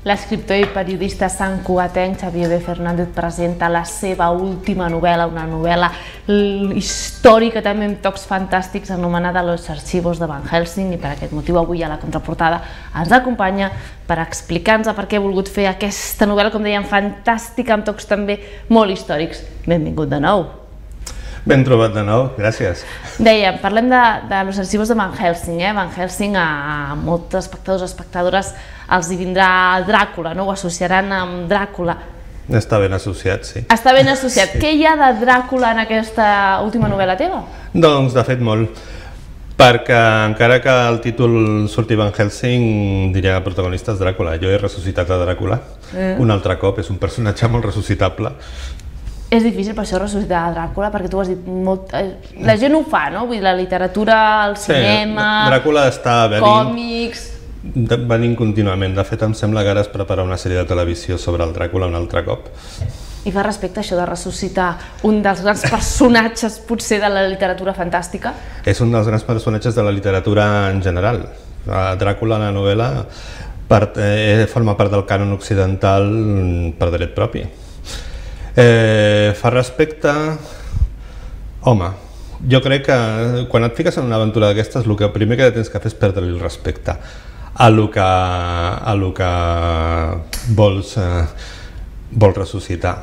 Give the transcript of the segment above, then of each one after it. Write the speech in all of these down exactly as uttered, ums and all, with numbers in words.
l'escriptor i periodista santcugatenc Xavier B. Fernández presenta la seva última novel·la, una novel·la històrica també amb tocs fantàstics anomenada Los archivos de Van Helsing, i per aquest motiu avui a la contraportada ens acompanya per explicar-nos per què he volgut fer aquesta novel·la, com dèiem, fantàstica, amb tocs també molt històrics. Benvingut de nou. Ben trobat de nou, gràcies. Dèiem, parlem de Los archivos de Van Helsing. Van Helsing, a molts espectadors o espectadores els hi vindrà Dràcula, ho associaran amb Dràcula. Està ben associat, sí. Està ben associat. Què hi ha de Dràcula en aquesta última novel·la teva? Doncs, de fet, molt. Perquè encara que el títol surti Van Helsing, diria que el protagonista és Dràcula. Jo he ressuscitat a Dràcula un altre cop, és un personatge molt ressuscitable. És difícil per això ressuscitar a Dràcula, perquè tu has dit molt... La gent ho fa, no? Vull dir, la literatura, el cinema... Sí, Dràcula està venint... Còmics... venint contínuament. De fet, em sembla que ara es prepara una sèrie de televisió sobre el Dràcula un altre cop. I fa respecte a això de ressuscitar un dels grans personatges, potser, de la literatura fantàstica? És un dels grans personatges de la literatura en general. Dràcula, la novel·la, forma part del cànon occidental per dret propi. Eh, fa respecte... Home, jo crec que quan et fiques en una aventura d'aquestes, el que primer que tens que fer és perdre-li el respecte a lo que, a lo que vols, eh, vols ressuscitar.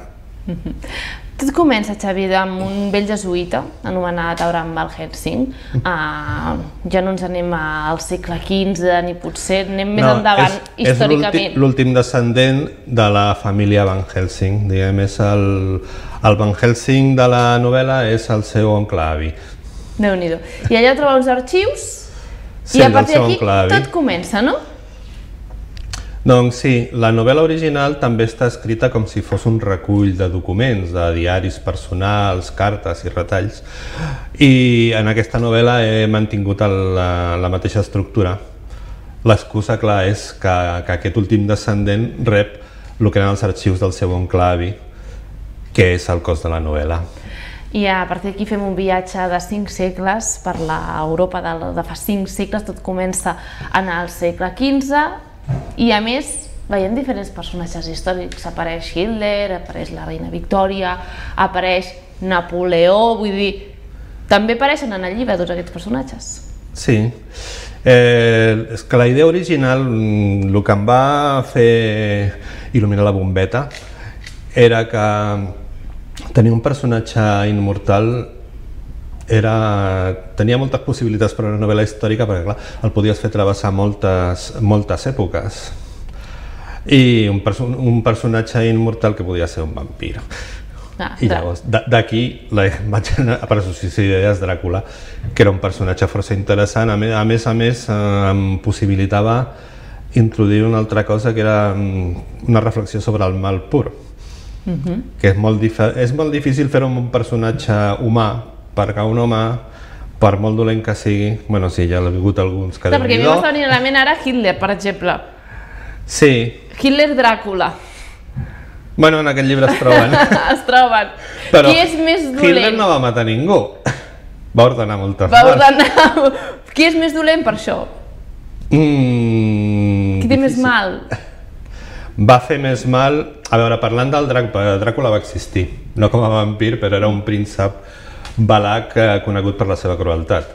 Tot comença, Xavier, amb un vell jesuïta anomenat Abraham Van Helsing. Ja no ens anem al segle quinze, ni potser anem més endavant històricament. És l'últim descendent de la família Van Helsing. Diguem, és el Van Helsing de la novel·la, és el seu oncle avi. Déu-n'hi-do. I allà troba uns arxius i a partir d'aquí tot comença, no? Doncs sí, la novel·la original també està escrita com si fos un recull de documents, de diaris personals, cartes i retalls, i en aquesta novel·la he mantingut la mateixa estructura. L'excusa, clar, és que aquest últim descendent rep el que eren els arxius del seu oncle avi, que és el cos de la novel·la. I a partir d'aquí fem un viatge de cinc segles per l'Europa de fa cinc segles, tot comença en el segle quinze, i a més veiem diferents personatges històrics. Apareix Hitler, apareix la reina Victòria, apareix Napoleó, vull dir, també apareixen en el llibre tots aquests personatges. Sí, és que la idea original, el que em va fer il·luminar la bombeta era que tenir un personatge immortal tenia moltes possibilitats per a una novel·la històrica, perquè clar, el podies fer travessar moltes èpoques. I un personatge immortal que podia ser un vampir. I llavors, d'aquí vaig anar per associació d'idees Dràcula, que era un personatge força interessant. A més a més, em possibilitava introduir una altra cosa, que era una reflexió sobre el mal pur. Que és molt difícil fer-ho amb un personatge humà, perquè un home, per molt dolent que sigui, bueno, sí, ja ha hagut alguns que... Perquè a mi m'està venint a la ment ara Hitler, per exemple. Sí. Hitler-Dràcula. Bueno, en aquest llibre es troben. Es troben. Qui és més dolent? Hitler no va matar ningú. Va ordenar moltes morts. Va ordenar... Qui és més dolent per això? Qui té més mal? Va fer més mal... A veure, parlant del Dràcula, Dràcula va existir, no com a vampir, però era un príncep valac conegut per la seva crueltat.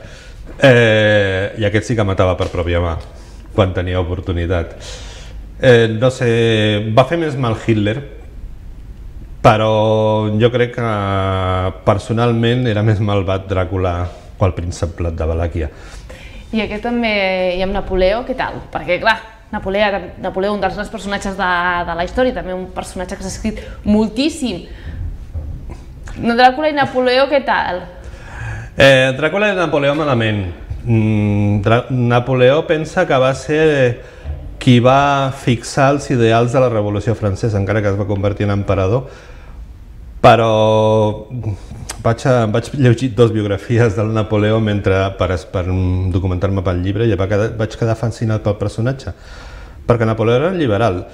I aquest sí que matava per pròpia mà, quan tenia oportunitat. No sé, va fer més mal Hitler, però jo crec que personalment era més malvat Dràcula que el príncep de Valàquia. I aquest també hi ha Napoleó, què tal? Perquè clar, Napoleó, un dels grans personatges de la història, també un personatge que s'ha escrit moltíssim. Dràcula i Napoleó, què tal? Dràcula i Napoleó malament. Napoleó pensa que va ser qui va fixar els ideals de la Revolució Francesa, encara que es va convertir en emperador, però vaig llegir dues biografies del Napoleó per documentar-me pel llibre i vaig quedar fascinat pel personatge, perquè Napoleó era liberal.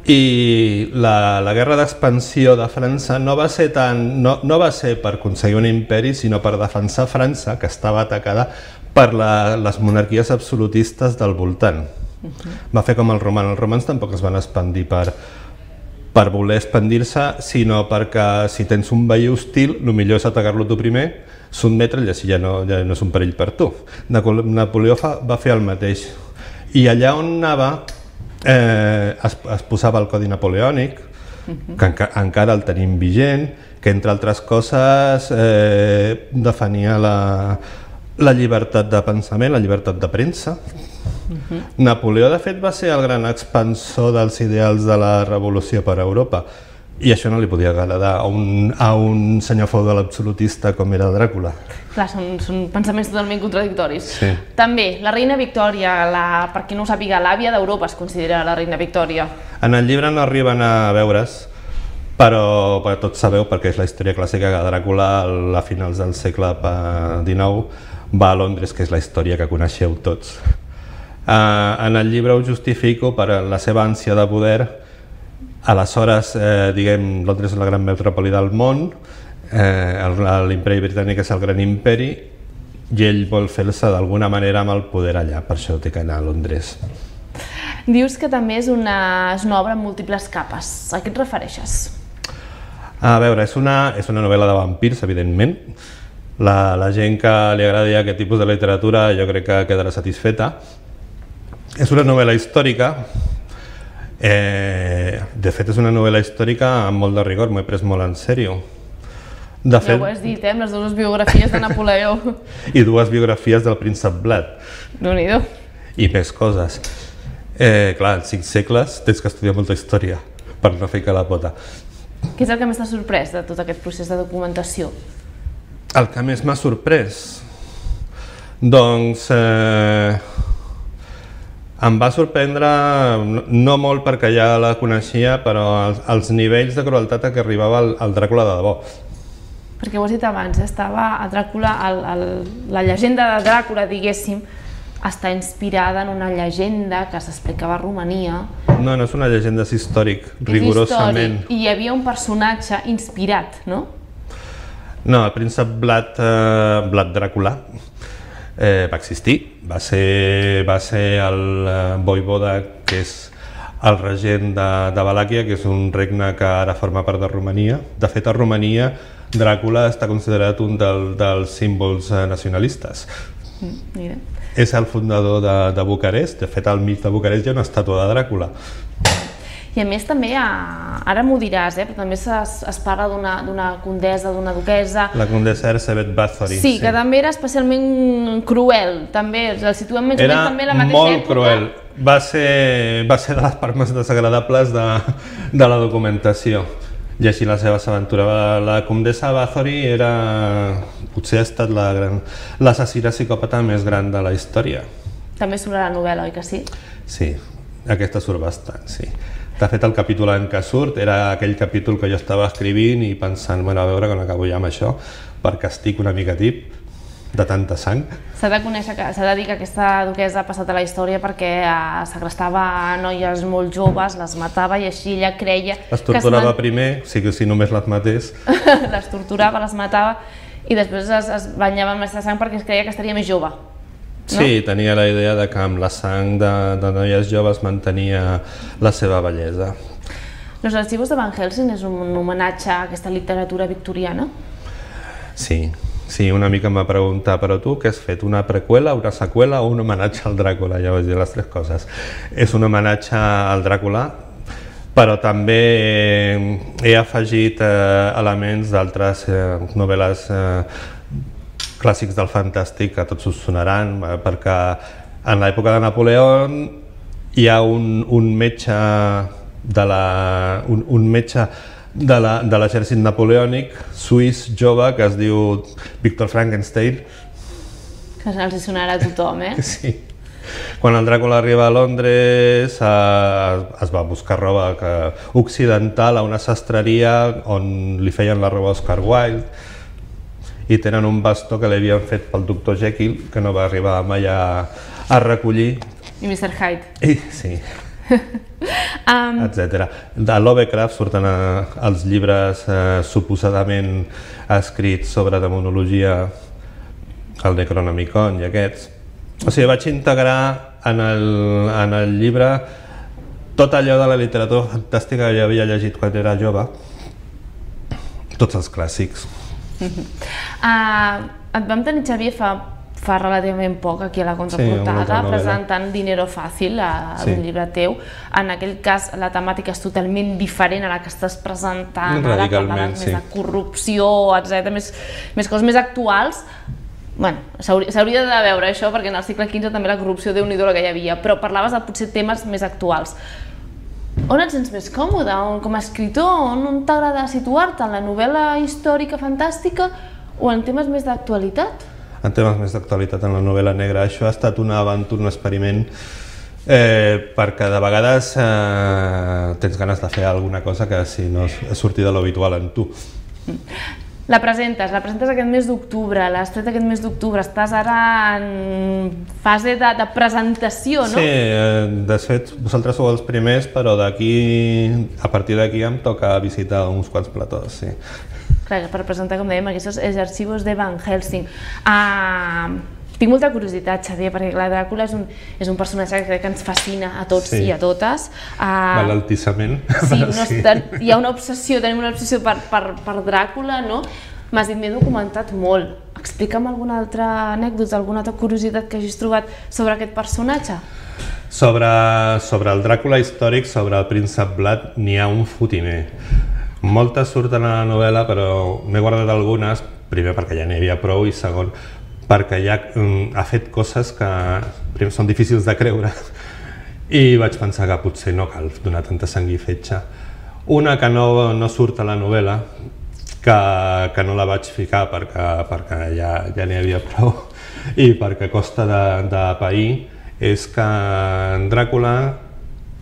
I la guerra d'expansió de França no va ser per aconseguir un imperi, sinó per defensar França, que estava atacada per les monarquies absolutistes del voltant. Va fer com el roman. Els romans tampoc es van expandir per, per voler expandir-se, sinó perquè si tens un veí hostil, el millor és atacar-lo tu primer, sotmetre'l i així ja no, ja no és un perill per tu. Napoleó fa, va fer el mateix. I allà on anava eh, es, es posava el codi napoleònic, que enca, encara el tenim vigent, que entre altres coses eh, defenia la, la llibertat de pensament, la llibertat de premsa. Uh-huh. Napoleó, de fet, va ser el gran expansor dels ideals de la revolució per a Europa, i això no li podia agradar a un, a un senyor feudal absolutista com era Dràcula. Clar, són, són pensaments totalment contradictoris. Sí. També, la reina Victòria, la, per qui no ho sàpiga, l'àvia d'Europa es considera la reina Victòria. En el llibre no arriben a veure's, però, però tots sabeu, perquè és la història clàssica, que Dràcula a finals del segle dinou va a Londres, que és la història que coneixeu tots. Uh, en el llibre ho justifico per la seva ànsia de poder. Aleshores, eh, diguem, Londres és la gran metròpoli del món, eh, l'imperi britànic és el gran imperi, i ell vol fer-se d'alguna manera amb el poder allà, per això té que anar a Londres. Dius que també és una, és una obra amb múltiples capes. A què et refereixes? A veure, és una, és una novel·la de vampirs, evidentment. La, la gent que li agradi aquest tipus de literatura jo crec que quedarà satisfeta. És una novel·la històrica. Eh, de fet, és una novel·la històrica amb molt de rigor, m'ho he pres molt en sèrio. De fet, ja ho has dit, eh? Amb les dues biografies de Napoleó. I dues biografies del príncep Vlad. Déu-n'hi-do. I més coses. Eh, clar, en cinc segles tens que estudiar molta història per no fer la pota. Què és el que més t'ha sorprès de tot aquest procés de documentació? El que més m'ha sorprès? Doncs... Eh, em va sorprendre, no molt perquè ja la coneixia, però els, els nivells de crueltat a què arribava el, el Dràcula de debò. Perquè ho has dit abans, estava a Dràcula, el, el, la llegenda de Dràcula, diguéssim, està inspirada en una llegenda que s'explicava a Romania. No, no és una llegenda, és històric, rigorosament. És històric, i hi havia un personatge inspirat, no? No, el príncep Vlad, eh, Vlad Dràcula, Eh, va existir, va ser, va ser el eh, voivoda, que és el regent de, de Valàquia, que és un regne que ara forma part de Romania. De fet, a Romania, Dràcula està considerat un del, dels símbols eh, nacionalistes. Mm, mira. És el fundador de, de Bucarest. De fet, al mig de Bucarest hi ha una estàtua de Dràcula. I a més també, ara m'ho diràs, eh, però també es, es parla d'una condessa, d'una duquesa... La condessa Erzsébet Báthory. Sí, sí, que també era especialment cruel, també, el situem més o menys també a la mateixa època. Era molt cruel. Va ser, va ser de les parts més desagradables de, de la documentació. I així la seva aventura. La condessa Báthory era... potser ha estat l'assassina psicòpata més gran de la història. També surt a la novel·la, oi que sí? Sí, aquesta surt bastant, sí. De fet, el capítol en què surt era aquell capítol que jo estava escrivint i pensant, bueno, a veure quan acabo ja amb això, perquè estic una mica tip de tanta sang. S'ha de conèixer, s'ha de dir que aquesta duquesa ha passat a la història perquè segrestava noies molt joves, les matava i així ella creia... Les torturava primer, si, si només les matés. Les torturava, les matava i després es, es banyava amb aquesta sang perquè es creia que estaria més jove. No? Sí, tenia la idea de que amb la sang de, de noies joves mantenia la seva bellesa. Los archivos de Van Helsing és un homenatge a aquesta literatura victoriana? Sí, sí, una mica em va preguntar, però tu què has fet? Una preqüela, una seqüela o un homenatge al Dràcula? Ja vaig dir les tres coses. És un homenatge al Dràcula, però també he afegit eh, elements d'altres eh, novel·les eh, clàssics del fantàstic que tots us sonaran, perquè en l'època de Napoleó hi ha un, un metge de la, un, un metge de l'exèrcit napoleònic suís jove que es diu Victor Frankenstein. Que els sonarà a tothom, eh? Sí. Quan el Dràcula arriba a Londres eh, es va buscar roba que, occidental a una sastreria on li feien la roba a Oscar Wilde i tenen un bastó que li havien fet pel doctor Jekyll, que no va arribar mai a, a recollir. I mister Hyde. I, sí. um... etcètera. De Lovecraft surten a, els llibres eh, suposadament escrits sobre demonologia, el Necronomicon i aquests. O sigui, vaig integrar en el, en el llibre tot allò de la literatura fantàstica que jo havia llegit quan era jove, tots els clàssics. Uh, et vam tenir, Xavier, fa, fa relativament poc aquí a la contraportada, sí, presentant Dinero Fácil, a sí. un llibre teu. En aquell cas la temàtica és totalment diferent a la que estàs presentant, ara parlaves sí. més de corrupció, etcètera, més, més coses més actuals. Bueno, s'hauria de veure això, perquè en el segle quinze també la corrupció, Déu-n'hi-do la que hi havia, però parlaves de potser temes més actuals. On et sents més còmode? Com a escriptor, on t'agrada situar-te? En la novel·la històrica fantàstica o en temes més d'actualitat? En temes més d'actualitat, en la novel·la negra. Això ha estat una aventura, un experiment, eh, perquè de vegades eh, tens ganes de fer alguna cosa que si no és sortir de l'habitual en tu. La presentes, la presentes aquest mes d'octubre, l'has tret aquest mes d'octubre, estàs ara en fase de, de presentació, no? Sí, de fet, vosaltres sou els primers, però d'aquí, a partir d'aquí em toca visitar uns quants platós, sí. Clar, per presentar, com dèiem, aquests arxivos de Van Helsing. Uh, tinc molta curiositat, Xavier, perquè clar, Dràcula és un, és un personatge que crec que ens fascina a tots sí. i a totes. Uh, L'altissament. Sí, no, sí. Hi ha una obsessió, tenim una obsessió per, per, per Dràcula, no? M'has dit, m'he documentat molt. Explica'm alguna altra anècdota, alguna altra curiositat que hagis trobat sobre aquest personatge. Sobre, sobre el Dràcula històric, sobre el príncep Vlad, n'hi ha un fotimer. Moltes surten a la novel·la, però n'he guardat algunes, primer perquè ja n'hi havia prou i segon perquè ja um, ha fet coses que primer són difícils de creure i vaig pensar que potser no cal donar tanta sang i fetge. Una que no, no surt a la novel·la, que, que no la vaig ficar perquè, perquè ja, ja n'hi havia prou i perquè costa de, de pair, és que en Dràcula,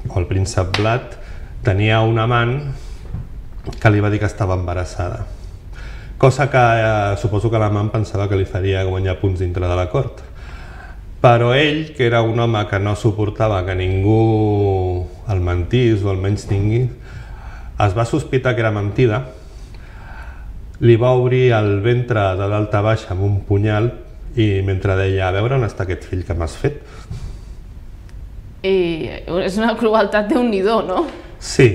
o el príncep Vlad, tenia un amant que li va dir que estava embarassada. Cosa que eh, suposo que l'amant pensava que li faria guanyar punts dintre de la cort. Però ell, que era un home que no suportava que ningú el mentís o el menys tingui, es va sospitar que era mentida, li va obrir el ventre de dalt a baix amb un punyal i mentre deia, a veure on està aquest fill que m'has fet. I és una crueltat Déu-n'hi-do, no? Sí.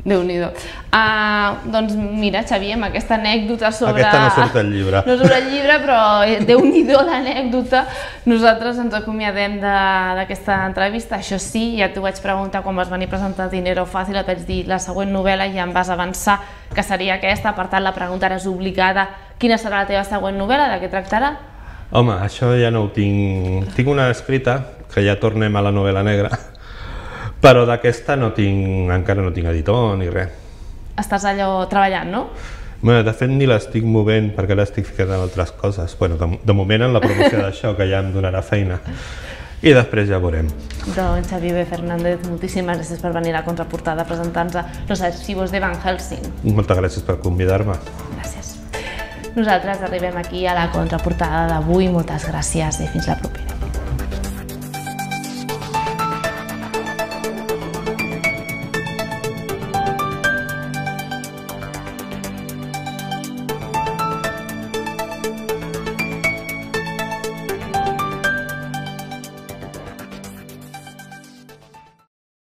Déu-n'hi-do. Uh, doncs mira, Xavier, amb aquesta anècdota sobre... Aquesta no surt al llibre. No surt al llibre, però Déu-n'hi-do l'anècdota. Nosaltres ens acomiadem d'aquesta entrevista. Això sí, ja t'ho vaig preguntar quan vas venir a presentar Dinero Fácil, et vaig dir la següent novel·la i ja em vas avançar que seria aquesta, per tant la pregunta és obligada. Quina serà la teva següent novel·la? De què tractarà? Home, això ja no ho tinc... Tinc una escrita, que ja tornem a la novel·la negra, però d'aquesta no tinc, encara no tinc editor ni res. Estàs allò treballant, no? Bé, de fet ni l'estic movent perquè l'estic ficant en altres coses. Bueno, de, de moment en la promoció d'això, que ja em donarà feina. I després ja veurem. Doncs Xavier B. Fernández, moltíssimes gràcies per venir a la contraportada a presentar-nos Los archivos de Van Helsing. Moltes gràcies per convidar-me. Gràcies. Nosaltres arribem aquí a la contraportada d'avui. Moltes gràcies i fins la propera.